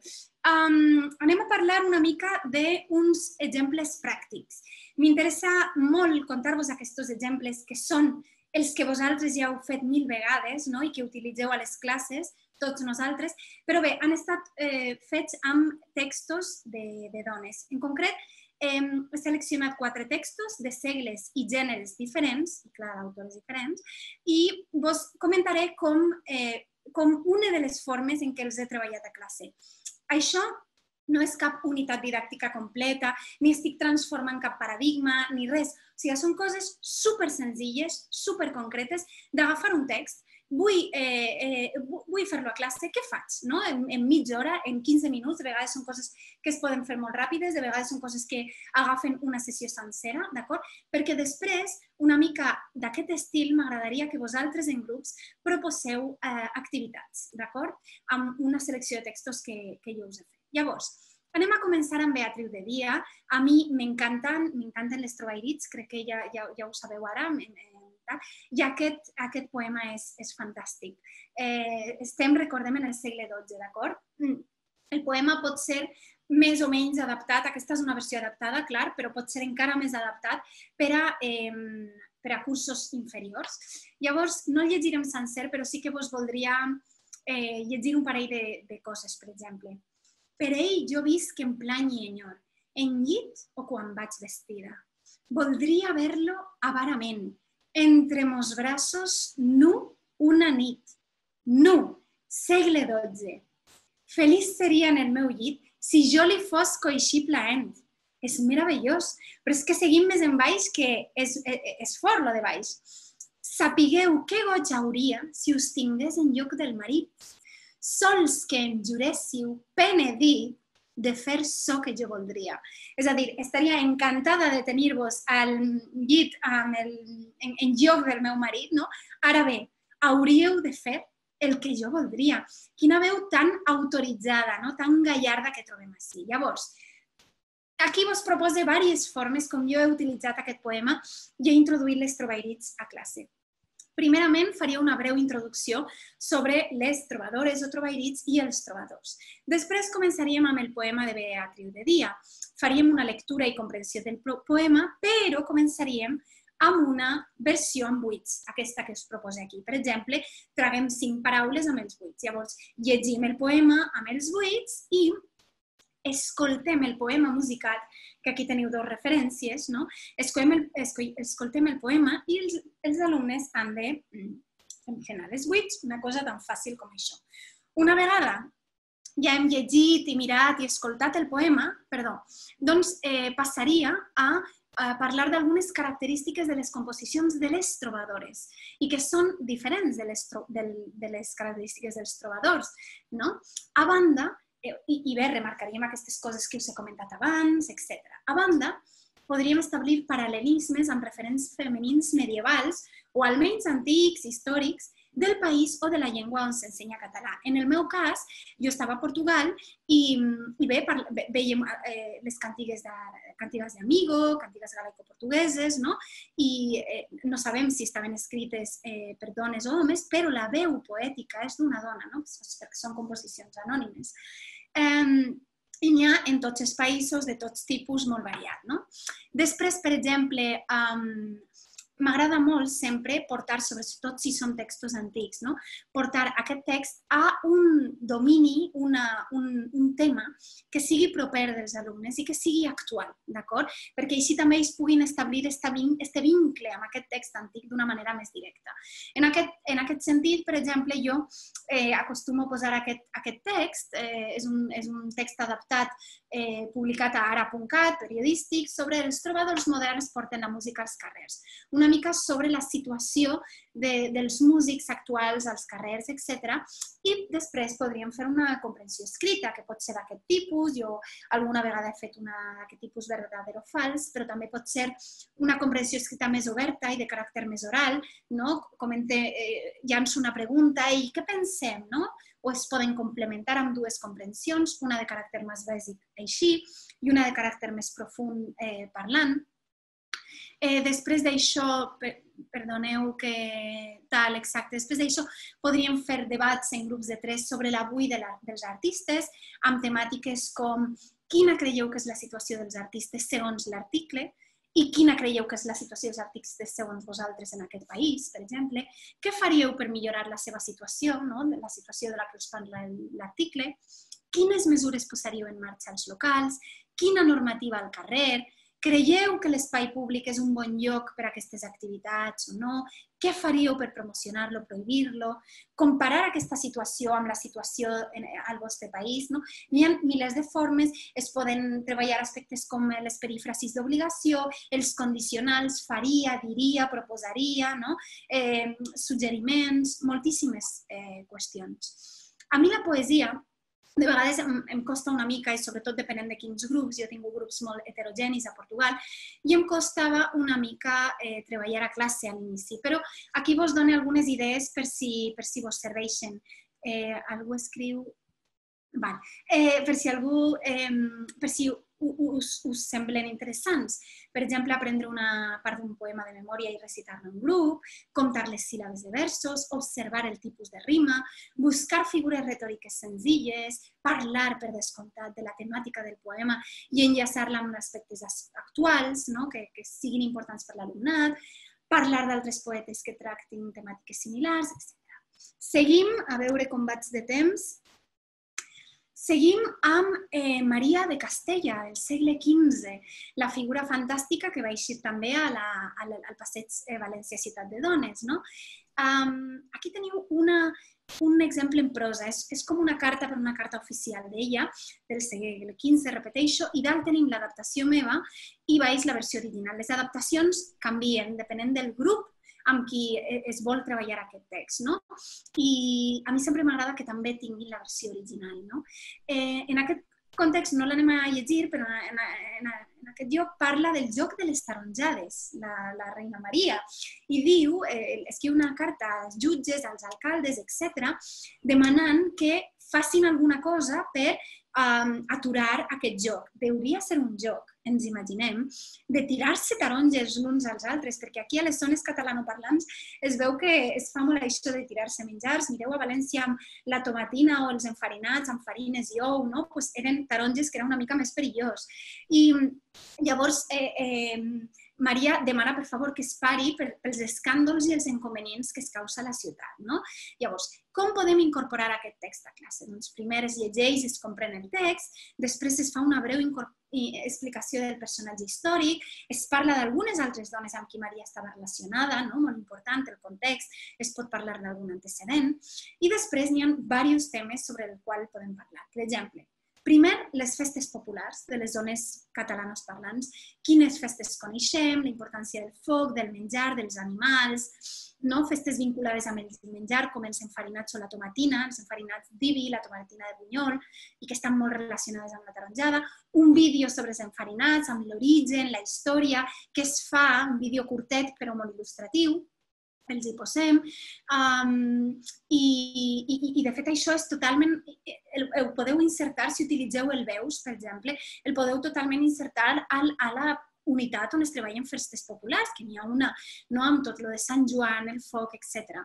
Anem a parlar una mica d'uns exemples pràctics. M'interessa molt contar-vos aquests exemples que són els que vosaltres ja heu fet 1000 vegades i que utilitzeu a les classes, tots nosaltres, però bé, han estat fets amb textos de dones. En concret, he seleccionat 4 textos de segles i gèneres diferents, i clar, d'autors diferents, i vos comentaré com una de les formes en què els he treballat a classe. Això no és cap unitat didàctica completa, ni estic transformant cap paradigma, ni res. O sigui, són coses supersenzilles, superconcretes, d'agafar un text. Vull fer-lo a classe, què faig? En mitja hora, en 15 minuts, de vegades són coses que es poden fer molt ràpides, de vegades són coses que agafen una sessió sencera, d'acord? Perquè després, una mica d'aquest estil, m'agradaria que vosaltres en grups proposeu activitats, d'acord? Amb una selecció de textos que jo us he fet. Llavors, anem a començar amb Beatriu de Dia. A mi m'encanten les trovairits, crec que ja ho sabeu ara, i aquest poema és fantàstic. Estem, recordem, en el segle XII, d'acord? El poema pot ser més o menys adaptat, aquesta és una versió adaptada, clar, però pot ser encara més adaptat per a cursos inferiors. Llavors, no el llegirem sencer, però sí que vos voldria llegir un parell de coses, per exemple. Per ell jo visc en plany i enyor, en llit o quan vaig vestida. Voldria ver-lo avarament, entre mos braços, nu una nit. Nu, segle XII. Feliç seria en el meu llit si jo li fos coixí plaent. És meravellós, però és que seguim més en baix que és fort, lo de baix. Sapigueu què goig hauria si us tingués en lloc del marit. Sols que em juréssiu penedir de fer ço que jo voldria. És a dir, estaria encantada de tenir-vos al llit en lloc del meu marit, no? Ara bé, hauríeu de fer el que jo voldria. Quina veu tan autoritzada, tan gallarda que trobem així. Llavors, aquí vos propose diverses formes com jo he utilitzat aquest poema i he introduït les trovairits a classe. Primerament, faria una breu introducció sobre les trobadores o trovairits i els trobadors. Després començaríem amb el poema de Beatriu de Dia. Faríem una lectura i comprensió del poema, però començaríem amb una versió amb buits, aquesta que us proposo aquí. Per exemple, traguem 5 paraules amb els buits. Llavors, llegim el poema amb els buits i escoltem el poema musicat, que aquí teniu 2 referències, no? Escoltem el poema i els alumnes han de semifinal els buits, una cosa tan fàcil com això. Una vegada ja hem llegit i mirat i escoltat el poema, doncs passaria a parlar d'algunes característiques de les composicions de les trobadores i que són diferents de les característiques dels trobadors, no? A banda, i bé, remarcaríem aquestes coses que us he comentat abans, etc. A banda, podríem establir paral·lelismes amb referents femenins medievals o almenys antics, històrics, del país o de la llengua on s'ensenya català. En el meu cas, jo estava a Portugal i bé, veiem les cantigues d'Amigo, cantigues galaico-portugueses, i no sabem si estaven escrites per dones o homes, però la veu poètica és d'una dona, perquè són composicions anònimes. I n'hi ha en tots els països, de tots tipus, molt variat. Després, per exemple, m'agrada molt sempre portar, sobretot si són textos antics, portar aquest text a un domini, un tema que sigui proper dels alumnes i que sigui actual, d'acord? Perquè així també ells puguin establir aquest vincle amb aquest text antic d'una manera més directa. En aquest sentit, per exemple, jo acostumo a posar aquest text, és un text adaptat, publicat a ara.cat, periodístic, sobre els trobadors moderns porten la música als carrers. Una mica sobre la situació dels músics actuals als carrers, etc. I després podríem fer una comprensió escrita, que pot ser d'aquest tipus. Jo alguna vegada he fet d'aquest tipus verdadero o fals, però també pot ser una comprensió escrita més oberta i de caràcter més oral. Llanço una pregunta i què pensem? O es poden complementar amb 2 comprensions, una de caràcter més bàsic així i una de caràcter més profund parlant. Després d'això, perdoneu que tal, exacte, després d'això podríem fer debats en grups de 3 sobre l'avui dels artistes, amb temàtiques com quina creieu que és la situació dels artistes segons l'article i quina creieu que és la situació dels artistes segons vosaltres en aquest país, per exemple, què faríeu per millorar la seva situació, la situació de la que us parla l'article, quines mesures posaríeu en marxa als locals, quina normativa al carrer, creieu que l'espai públic és un bon lloc per a aquestes activitats o no? Què faríeu per promocionar-lo, prohibir-lo? Comparar aquesta situació amb la situació al vostre país. Hi ha milers de formes, es poden treballar aspectes com les perífrasis d'obligació, els condicionals, faria, diria, proposaria, suggeriments, moltíssimes qüestions. A mi la poesia de vegades em costa una mica, i sobretot depenent de quins grups, jo he tingut grups molt heterogenis a Portugal, i em costava una mica treballar a classe a l'inici. Però aquí vos dono algunes idees per si vos serveixen. Algú escriu... Per si us semblen interessants. Per exemple, aprendre una part d'un poema de memòria i recitar-lo en grup, comptar les síl·labes de versos, observar el tipus de rima, buscar figures retòriques senzilles, parlar, per descomptat, de la temàtica del poema i enllaçar-la amb aspectes actuals, que siguin importants per l'alumnat, parlar d'altres poetes que tractin temàtiques similars, etc. Seguim, a veure com vaig de temps. Seguim amb Maria de Castella, del segle XV, la figura fantàstica que va eixir també al passeig València Ciutat de Dones. Aquí teniu un exemple en prosa, és com una carta per una carta oficial d'ella, del segle XV, repeteixo, i dalt tenim l'adaptació meva i baix la versió original. Les adaptacions canvien depenent del grup amb qui es vol treballar aquest text. I a mi sempre m'agrada que també tinguin la versió original. En aquest context no l'anem a llegir, però en aquest lloc parla del joc de les taronjades, la reina Maria, i diu, escriu una carta als jutges, als alcaldes, etc., demanant que facin alguna cosa per aturar aquest joc. Hauria de ser un joc, ens imaginem, de tirar-se taronges l'uns als altres, perquè aquí a les zones catalanoparlants es veu que es fa molt això de tirar-se menjars. Mireu a València amb la tomatina o els enfarinats amb farines i ou, eren taronges que era una mica més perillós. I llavors Maria demana, per favor, que es pari pels escàndols i els inconvenients que es causa a la ciutat. Llavors, com podem incorporar aquest text a classe? Doncs primer es llegeix, es comprèn el text, després es fa una breu explicació del personatge històric, es parla d'algunes altres dones amb qui Maria estava relacionada, molt important, el context, es pot parlar d'algun antecedent, i després n'hi ha diversos temes sobre els quals podem parlar. Per exemple, primer, les festes populars de les zones catalanes parlants. Quines festes coneixem, la importància del foc, del menjar, dels animals, festes vinculades amb el menjar, com els enfarinats o la tomatina, els enfarinats d'Ibi, la tomatina de Bunyol, i que estan molt relacionades amb la taronjada. Un vídeo sobre els enfarinats, amb l'origen, la història, que es fa, un vídeo curtet però molt il·lustratiu, els hi posem, i de fet això és totalment, ho podeu insertar, si utilitzeu el Veus, per exemple, el podeu totalment insertar a la unitat on es treballen festes populars, que n'hi ha una, amb tot lo de Sant Joan, el foc, etc.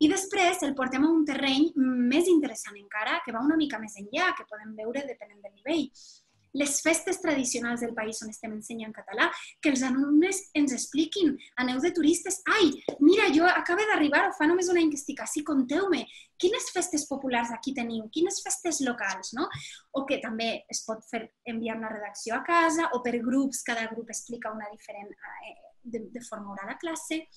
I després el portem a un terreny més interessant encara, que va una mica més enllà, que podem veure depenent del nivell. Les festes tradicionals del país on estem ensenyant català, que els alumnes ens expliquin, aneu de turistes, ai, mira, jo acabo d'arribar o fa només una investigació, conteu-me, quines festes populars aquí teniu, quines festes locals, O que també es pot fer enviar una redacció a casa o per grups, cada grup explica una diferent de forma oral a classe.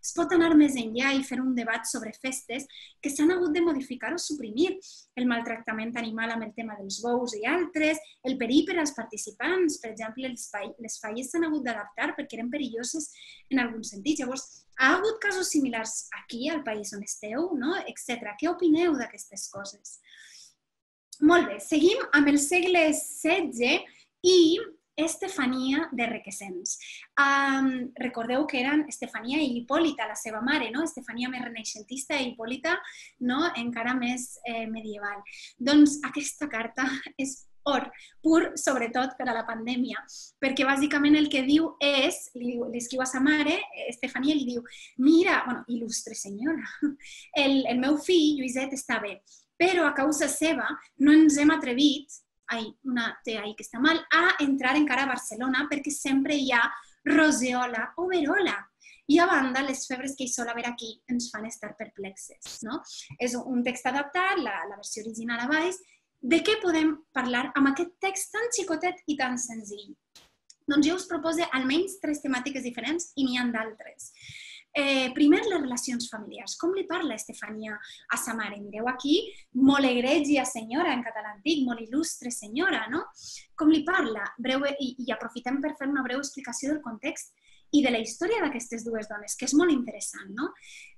Es pot anar més enllà i fer un debat sobre festes que s'han hagut de modificar o suprimir. El maltractament animal amb el tema dels bous i altres, el perill per als participants, per exemple, les falles s'han hagut d'adaptar perquè eren perilloses en algun sentit. Llavors, ha hagut casos similars aquí, al país on esteu, etc. Què opineu d'aquestes coses? Molt bé, seguim amb el segle XVI i Estefania de Requesens. Recordeu que eren Estefania i Hipòlita, la seva mare, Estefania més renaixentista i Hipòlita encara més medieval. Doncs aquesta carta és pur sobretot per a la pandèmia, perquè bàsicament el que diu és, li escriu a sa mare, Estefania, li diu, mira, bueno, il·lustre senyora, el meu fill, Lluïset, està bé, però a causa seva no ens hem atrevit, una té ahí que està mal, a entrar encara a Barcelona perquè sempre hi ha roseola o verola. I a banda, les febres que hi sol haver aquí ens fan estar perplexes. És un text adaptat, la versió original a baix. De què podem parlar amb aquest text tan xicotet i tan senzill? Doncs jo us proposo almenys 3 temàtiques diferents i n'hi ha d'altres. Primer, les relacions familiars. Com li parla Estefania a sa mare? Mireu aquí, molt egregia senyora en català antic, molt il·lustre senyora, no? Com li parla? I aprofitem per fer una breu explicació del context i de la història d'aquestes dues dones, que és molt interessant, no?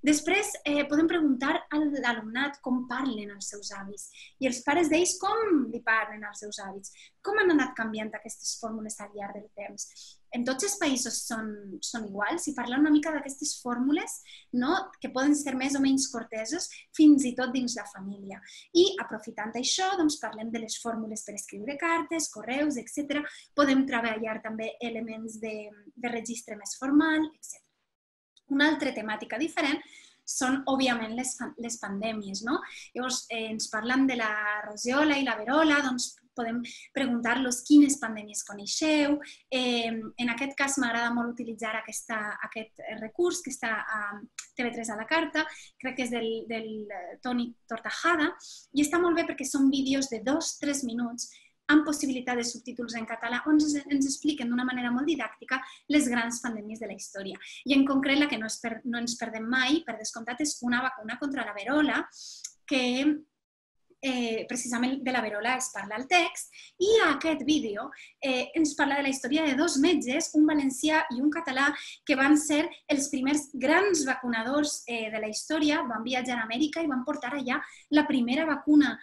Després podem preguntar a l'alumnat com parlen els seus avis i els pares d'ells com li parlen als seus avis, com han anat canviant aquestes fórmules al llarg del temps. En tots els països són iguals i parlar una mica d'aquestes fórmules que poden ser més o menys corteses fins i tot dins la família. I aprofitant això, parlem de les fórmules per escriure cartes, correus, etc. Podem treballar també elements de registre més formal, etc. Una altra temàtica diferent són, òbviament, les pandèmies. Llavors, ens parlen de la roseola i la verola, doncs podem preguntar-los quines pandèmies coneixeu. En aquest cas m'agrada molt utilitzar aquest recurs que està a TV3 a la carta, crec que és del Toni Tortajada, i està molt bé perquè són vídeos de 2-3 minuts amb possibilitat de subtítols en català, on ens expliquen d'una manera molt didàctica les grans pandèmies de la història. I en concret, la que no ens perdem mai, per descomptat, és una vacuna contra la verola, que precisament de la verola es parla al text, i a aquest vídeo ens parla de la història de 2 metges, un valencià i un català, que van ser els primers grans vacunadors de la història, van viatjar a Amèrica i van portar allà la primera vacuna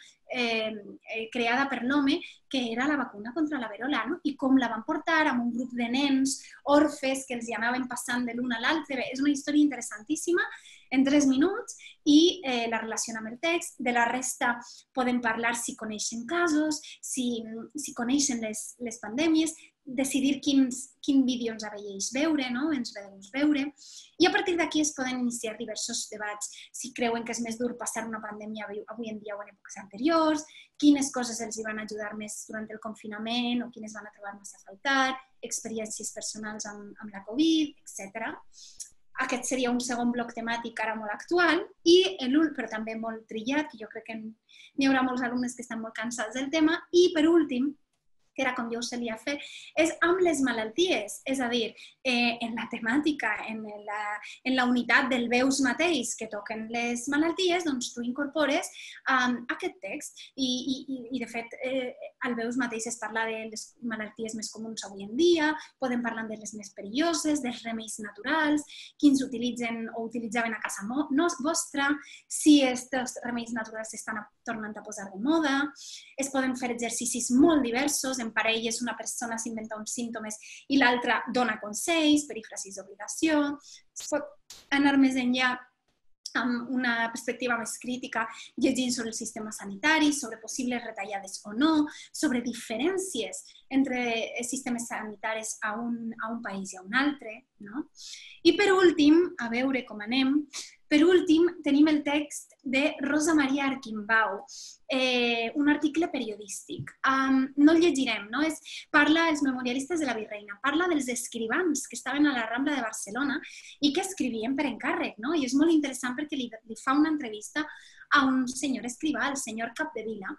creada per l'home, que era la vacuna contra la verola, i com la van portar amb un grup de nens orfes que els hi anaven passant de l'un a l'altre. És una història interessantíssima, en 3 minuts, i la relaciona amb el text. De la resta podem parlar si coneixen casos, si coneixen les pandèmies, decidir quin vídeo ens avelleix veure, ens ve de gust veure. I a partir d'aquí es poden iniciar diversos debats. Si creuen que és més dur passar una pandèmia avui en dia o en èpoques anteriors, quines coses els hi van ajudar més durant el confinament o quines van a trobar més a faltar, experiències personals amb la Covid, etc. Aquest seria un segon bloc temàtic ara molt actual, però també molt trillat, que jo crec que n'hi haurà molts alumnes que estan molt cansats del tema. I per últim, que era com jo ho solia fer, és amb les malalties. És a dir, en la temàtica, en la unitat del veus mateix que toquen les malalties, doncs tu incorpores aquest text. I de fet, al veus mateix es parla de les malalties més comuns avui en dia, podem parlar de les més perilloses, dels remeis naturals, quins utilitzen o utilitzaven a casa vostra, si aquests remeis naturals s'estan tornant a posar de moda. Es poden fer exercicis molt diversos. En parelles una persona s'inventa uns símptomes i l'altra dona consells, perífrasis d'obligació. Es pot anar més enllà amb una perspectiva més crítica, llegint sobre el sistema sanitari, sobre possibles retallades o no, sobre diferències entre sistemes sanitaris a un país i a un altre. I per últim, a veure com anem, tenim el text de Rosa Maria Arquimbau, un article periodístic. No el llegirem, parla dels memorialistes de la Virreina, parla dels escrivans que estaven a la Rambla de Barcelona i que escrivien per encàrrec, i és molt interessant perquè li fa una entrevista a un senyor escrivà, el senyor Capdevila,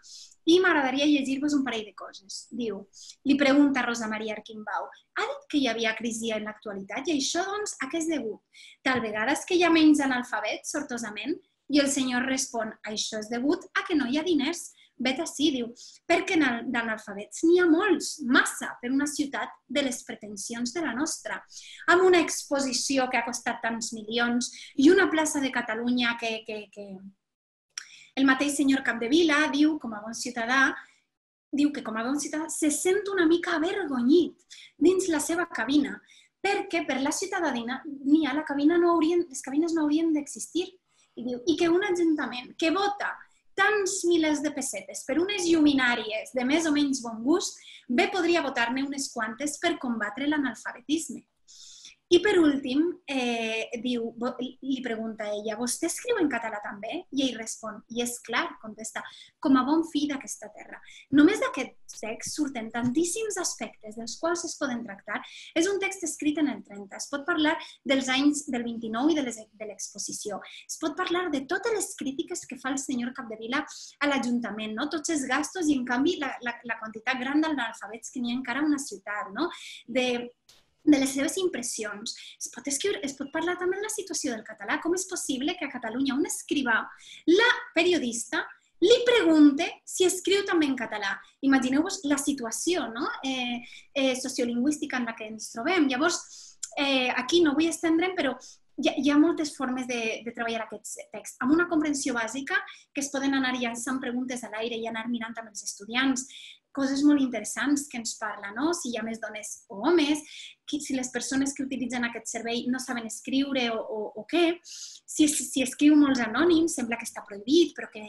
i m'agradaria llegir-vos un parell de coses. Diu, li pregunta Rosa Maria Arquimbau, ha dit que hi havia crisi en l'actualitat i això, doncs, a què és degut? Tal vegada és que hi ha menys analfabets, sortosament? I el senyor respon, això és degut a que no hi ha diners. Vet ací, diu, perquè d'analfabets n'hi ha molts, massa, per una ciutat de les pretensions de la nostra, amb una exposició que ha costat tants milions i una plaça de Catalunya que el mateix senyor Capdevila diu, com a bon ciutadà, se sent una mica avergonyit dins la seva cabina, perquè per la ciutadania les cabines no haurien d'existir. I diu, i que un ajuntament que vota tants milers de pessetes per unes lluminàries de més o menys bon gust, bé podria votar-ne unes quantes per combatre l'analfabetisme. I per últim, li pregunta ella, vostè escriu en català també? I ell respon, i és clar, contesta, com a bon fill d'aquesta terra. Només d'aquest text surten tantíssims aspectes dels quals es poden tractar. És un text escrit en el 30, es pot parlar dels anys del 29 i de l'exposició. Es pot parlar de totes les crítiques que fa el senyor Capdevila a l'Ajuntament, tots els gastos i, en canvi, la quantitat gran d'analfabets que n'hi ha encara a una ciutat, de les seves impressions. Es pot parlar també de la situació del català. Com és possible que a Catalunya un escrivà, la periodista, li pregunte si escriu també en català? Imagineu-vos la situació sociolingüística en la que ens trobem. Llavors, aquí no vull estendre'm, però hi ha moltes formes de treballar aquest text, amb una comprensió bàsica que es poden anar llançant preguntes a l'aire i anar mirant amb els estudiants, coses molt interessants que ens parla, si hi ha més dones o homes, si les persones que utilitzen aquest servei no saben escriure o què, si escriu molts anònims, sembla que està prohibit, però que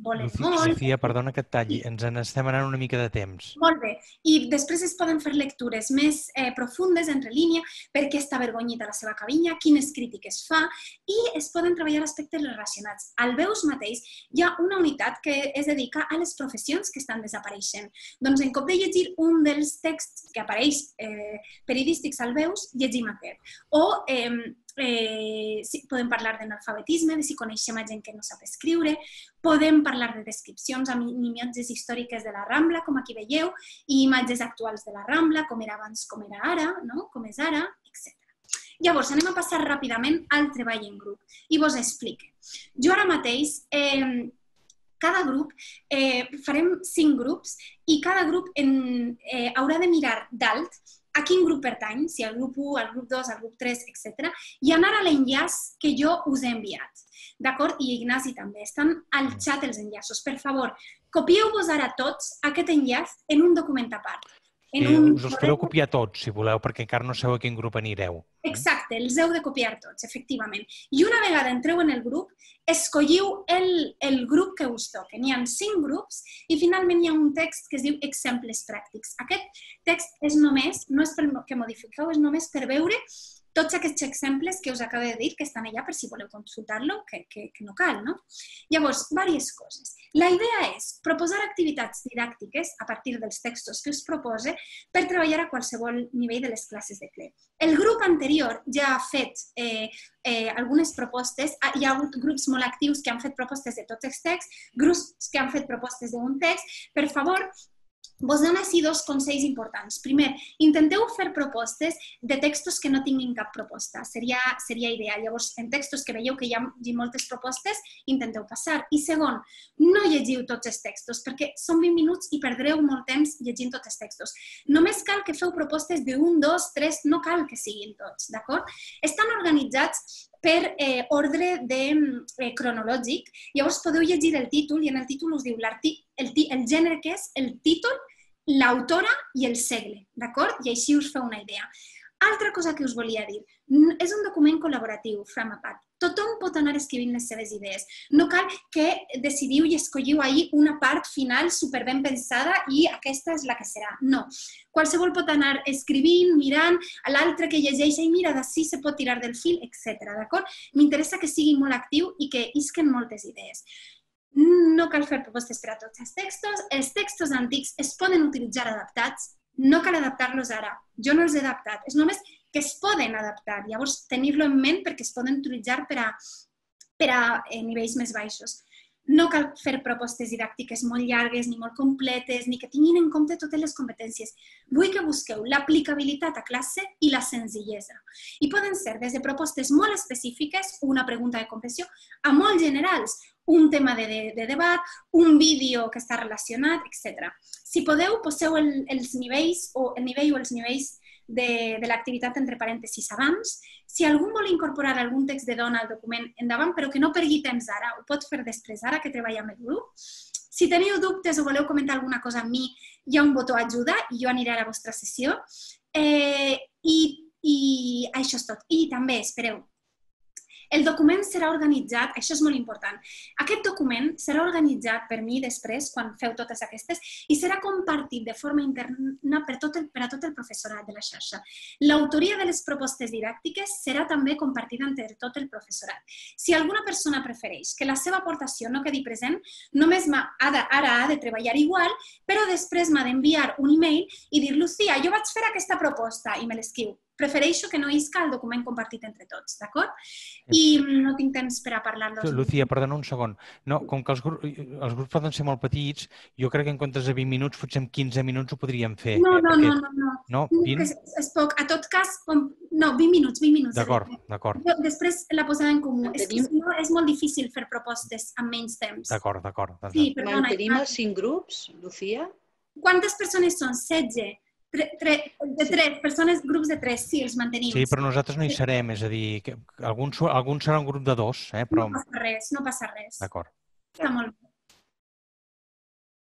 volen molt. Sofia, perdona que et talli, ens n'estem anant una mica de temps. Molt bé, i després es poden fer lectures més profundes, entre línia, per què està avergonyit a la seva cabanya, quines crítiques fa, i es poden treballar aspectes relacionats. Al Veus mateix hi ha una unitat que es dedica a les professions que estan desapareixent. Doncs en compte de llegir un dels texts que apareix periodístics al Veus, llegim aquest. O podem parlar d'analfabetisme, de si coneixem a gent que no sap escriure, podem parlar de descripcions amb imatges històriques de la Rambla, com aquí veieu, i imatges actuals de la Rambla, com era abans, com era ara, com és ara, etc. Llavors, anem a passar ràpidament al treball en grup i vos explico. Jo ara mateix, cada grup, farem 5 grups i cada grup haurà de mirar dalt a quin grup pertany, si al grup 1, al grup 2, al grup 3, etc. i anar a l'enllaç que jo us he enviat. D'acord? I Ignasi també. Estan al xat els enllaços. Per favor, copieu-vos ara tots aquest enllaç en un document a part. Us els podeu copiar tots, si voleu, perquè encara no sabeu a quin grup anireu. Exacte, els heu de copiar tots, efectivament. I una vegada entreu en el grup, escolliu el grup que us toqui. N'hi ha 5 grups i finalment hi ha un text que es diu exemples pràctics. Aquest text és només, no és perquè modifiqueu, és només per veure tots aquests exemples que us acabo de dir que estan allà per si voleu consultar-lo, que no cal, no? Llavors, diverses coses. La idea és proposar activitats didàctiques a partir dels textos que us propose per treballar a qualsevol nivell de les classes de CLE. El grup anterior ja ha fet algunes propostes, hi ha hagut grups molt actius que han fet propostes de tots els texts, grups que han fet propostes d'un text. Per favor, vos dono així 2 consells importants. Primer, intenteu fer propostes de textos que no tinguin cap proposta. Seria ideal. Llavors, en textos que veieu que hi ha moltes propostes, intenteu passar. I segon, no llegiu tots els textos, perquè són 20 minuts i perdreu molt temps llegint tots els textos. Només cal que feu propostes de 1, 2, 3, no cal que siguin tots, d'acord? Estan organitzats per ordre cronològic. Llavors podeu llegir el títol i en el títol us diu el gènere que és, el títol, l'autora i el segle, d'acord? I així us feu una idea. Altra cosa que us volia dir, és un document col·laboratiu, Framapat. Tothom pot anar escrivint les seves idees. No cal que decidiu i escolliu ahir una part final superben pensada i aquesta és la que serà. No. Qualsevol pot anar escrivint, mirant, a l'altre que llegeix i mira, d'ací se pot tirar del fil, etc. D'acord? M'interessa que sigui molt actiu i que isquen moltes idees. No cal fer propostes per a tots els textos antics es poden utilitzar adaptats, no cal adaptar-los ara. Jo no els he adaptat, és només que es poden adaptar, llavors tenir-lo en ment perquè es poden utilitzar per a nivells més baixos. No cal fer propostes didàctiques molt llargues, ni molt completes, ni que tinguin en compte totes les competències. Vull que busqueu l'aplicabilitat a classe i la senzillesa. I poden ser des de propostes molt específiques, una pregunta de comprensió, a molt generals, un tema de debat, un vídeo que està relacionat, etc. Si podeu, poseu el nivell o els nivells de l'activitat entre parèntesis abans. Si algú vol incorporar algun text de dona al document, endavant, però que no perdi temps ara, ho pot fer després, ara que treballa amb el grup. Si teniu dubtes o voleu comentar alguna cosa amb mi, hi ha un botó ajuda i jo aniré a la vostra sessió. I això és tot. I també, espereu, El document serà organitzat, això és molt important, aquest document serà organitzat per mi després, quan feu totes aquestes, i serà compartit de forma interna per a tot el professorat de la xarxa. L'autoria de les propostes didàctiques serà també compartida entre tot el professorat. Si alguna persona prefereix que la seva aportació no quedi present, només ara ha de treballar igual, però després m'ha d'enviar un email i dir, Lucía, jo vaig fer aquesta proposta i me l'escriu. Prefereixo que no isca el document compartit entre tots, d'acord? I no tinc temps per a parlar-los. Lucía, perdona un segon. No, com que els grups poden ser molt petits, jo crec que en comptes de 20 minuts, potser en 15 minuts ho podríem fer. No. No? 20? És poc. A tot cas, no, 20 minuts. D'acord. Després la posada en comú. És que si no és molt difícil fer propostes amb menys temps. D'acord. Sí, perdona. Mantenim els 5 grups, Lucía? Quantes persones són? 16? De 3 persones, grups de 3, sí, els mantenim. Sí, però nosaltres no hi serem, és a dir, alguns serà un grup de 2, però... No passa res. D'acord. Està molt bé.